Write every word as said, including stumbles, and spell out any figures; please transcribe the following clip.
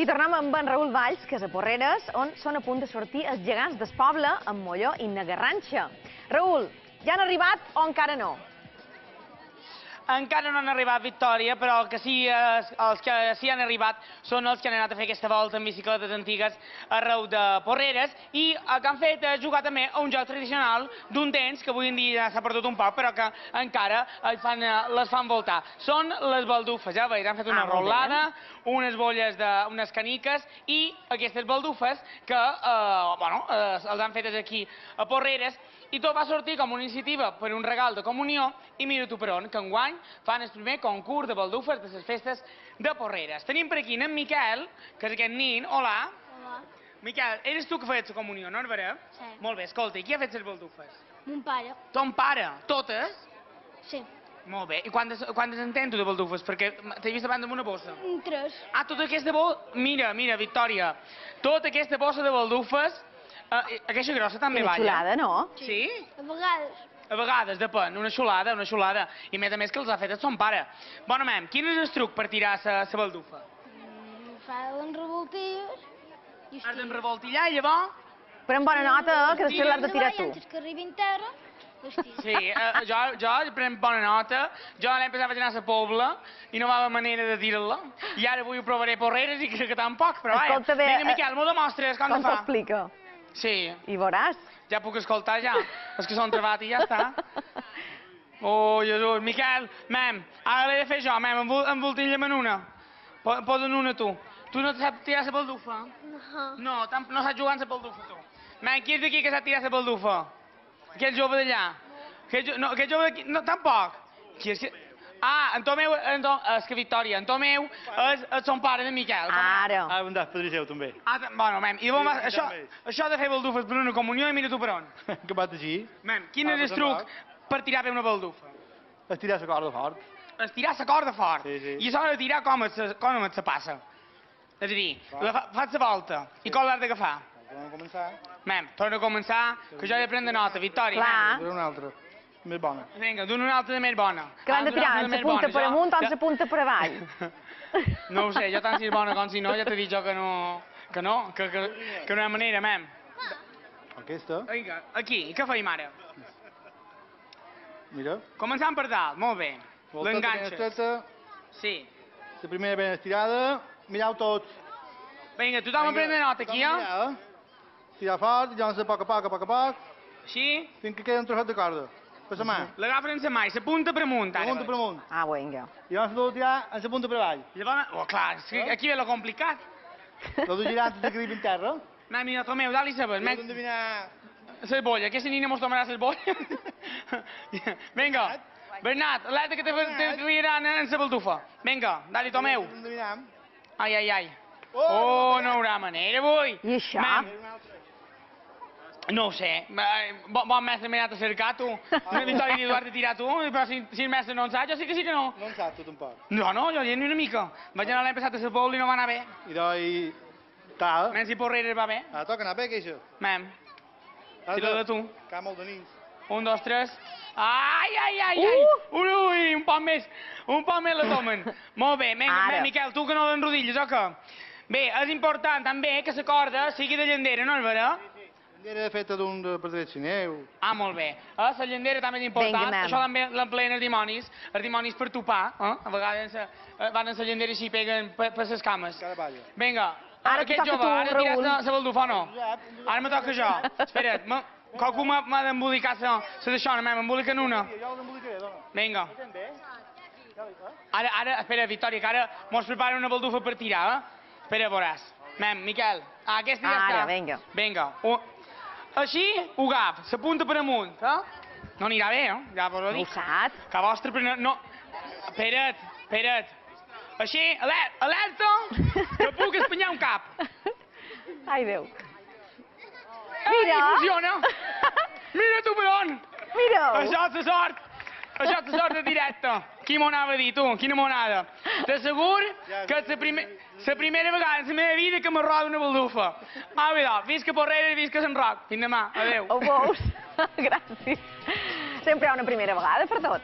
tornem amb en Raül Valls, que és a Porreres, on són a punt de sortir els gegants del poble amb Molló i na Garranxa. Raül, ja han arribat o encara no? Encara no han arribat, Victòria, però el que sí, els que sí han arribat són els que han anat a fer aquesta volta en bicicletes antigues arreu de Porreres i el que han fet és jugar també a un joc tradicional d'un temps que avui en dia ja s'ha perdut un poc, però que encara fan, les fan voltar. Són les baldufes, ja veus, han fet una Ah, molt bé. rolada, unes bolles, de, unes caniques i aquestes baldufes que eh, bueno, eh, els han fetes aquí a Porreres i tot va sortir com una iniciativa per un regal de comunió i mira tu per on, que enguany fan el primer concurs de baldufes de les festes de Porreres. Tenim per aquí en Miquel, que és aquest nin. Hola. Hola. Miquel, eres tu que feies la comunió, no és vera? Sí. Molt bé, escolta, i qui ha fet les baldufes? Mon pare. Ton pare. Totes? Sí. Molt bé. I quantes, quantes en tens tu de baldufes? Perquè t'he vist abans amb una bossa. Un tres. Ah, tota aquesta bossa... Mira, mira, Victòria, tota aquesta bossa de baldufes, eh, aquesta grossa també Quina balla. xulada, no? Sí? A vegades. A vegades, depèn, una xulada, una xulada. I a més a més que els ha fet el son pare. Bona, mem, quin és el truc per tirar la baldufa? Mm, fa les revoltilles i Has d'enrevoltillar i llavors... Però amb bona nota, que després l'has de tirar tu. Antes que arribin terra, les tiro. Sí, eh, jo, jo prenc bona nota. Jo l'any passat vaig anar a la Pobla i no va haver manera de tirar-la. I ara avui ho provaré a Porreres i crec que tampoc, però vaja. Escolta bé, Vinga, Miquel, m'ho demostres, com, Com se fa? s'explica? Sí, I veuràs. ja puc escoltar ja. És que són trebat i ja està. Oh, Jesús. Miquel, mem, ara l'he de fer jo, mem, envol, envoltilla'm en una. Po- Posa'n una tu. Tu no saps tirar la baldufa? No. No, tam- no saps jugar amb la baldufa, tu. Mem, qui és d'aquí que sap tirar la baldufa? Aquell jove d'allà. Aquell, jo- no, aquell jove d'aquí, no, tampoc. Qui és que... Ah, en Tomeu, en Tom, és que Victòria, en Tomeu és, és son pare de Miquel. Ara. Ah, un das padrí seu, també. Ah, t- bueno, mem, i llavors, Sí, això, també. això de fer baldufes per una comunió, i mira tu per on. Que va així, Mem, quin Ah, és el pues truc per tirar bé una baldufa? estirar la corda fort. Estirar la corda fort. Sí, sí. I això de tirar com et se, com et se passa. És a dir, la fa, fas la volta. I com l'has d'agafar? Vam a començar. Mem, torna a començar, que jo he de prendre nota. Victòria, Clar. Era una altra, més bona. mem. Vinga, d'una una altra de més bona. Que l'han de Ah, d'una tirar altra en la més punta bona. per Jo- amunt o en ja- la punta per avall. No ho sé, jo tant si és bona com si no, ja t'he dit jo que no, que no, que, que, que no hi ha manera, mem. Aquesta, Vinga, aquí, i què feim ara? mira. Començant per dalt, molt bé. Volta ben L'enganxes. estreta, Sí. la primera ben estirada, mireu tots. Vinga, tothom a prendre nota aquí, eh? eh? Tirar fort, llavors a poc a poc, a poc a poc, Així. fins que queda un trosset de corda. Per la mà. L'agafen en la mà i la punta per amunt, ara. Punta per amunt. Ah, vinga. I llavors l'ho tirar en la punta per avall. I llavors, oh, clar, és que aquí ve lo complicat. L'ho de girar antes de que arribi en terra. Mem, mira, Tomeu, dalt-li sabes. L'ho Mem, d'endevinar... la bolla, aquesta nina mos tomarà la bolla. Vinga, Bernat, alerta que te te criaran en la baldufa. Vinga, dali, Tomeu. L'ho d'endevinar. Ai, ai, ai. Oh, no hi haurà manera, avui. I això? Mem, no ho sé. Eh, Bon, bon mestre m'he anat a cercar, tu. Una victòria diu, has de tirar tu, però si, si el mestre no en sap, jo sí que sí que no. No en saps, tu tampoc. No, no, jo ni una mica. Vaig anar l'any passat a la Pobla i no va anar bé. I doi... Tal. Menys si Porreres va bé. Ah, toca anar bé, que això. Mem, Has tira de tu. Que ha molt de nins. Un, dos, tres. Ai, ai, ai, ai. Uh! Ui, ui, un poc més. Un poc més la tomen. Molt bé, vinga, Ara. vinga, Miquel, tu que no l'enrodilles, o què? Bé, és important també que la corda sigui de llandera, no és vera? Era feta d'un de per sineu. Ah, molt bé. Eh, la llandera també és important. Vinga, mem. Això també l'empleen els dimonis. Els dimonis per topar. Eh? A vegades eh, van a la llandera i s'hi peguen per, per les cames. Cada palla. Vinga, Ara aquest toca jove, tu, ara Raül. tires la baldufa o no? Ara me toca jo. Espera't, me- qualcú m'ha m'ha d'embolicar la la d'això, no, m'emboliquen una. Jo l'embolicaré, dona. Vinga. Sent bé? Ara, ara, espera, Victòria, que ara mos prepara una baldufa per tirar, eh? Espera, veuràs. Mem, Miquel, ah, aquesta ja Ara, està. vinga. Vinga. U- Així, ho agaf, la punta per amunt, eh? No anirà bé, eh? Ja vos ho Ho dic. saps? Que vostre... però no... Espera't, espera't. Així, aler- alerta, que puc espanyar un cap. Ai, Déu. Ai, Mira. funciona. Mira tu per on. Mira. Això és la sort. Això és la sort de directe. Qui m'ho anava a dir, tu? Quina monada. T'assegur que és la, primer, la primera vegada en la meva vida que me roda una baldufa. Ah, vidò, visca Porreres, visca Sant Roc. Fins demà. Adéu. Ho veus? Gràcies. Sempre hi ha una primera vegada per tot.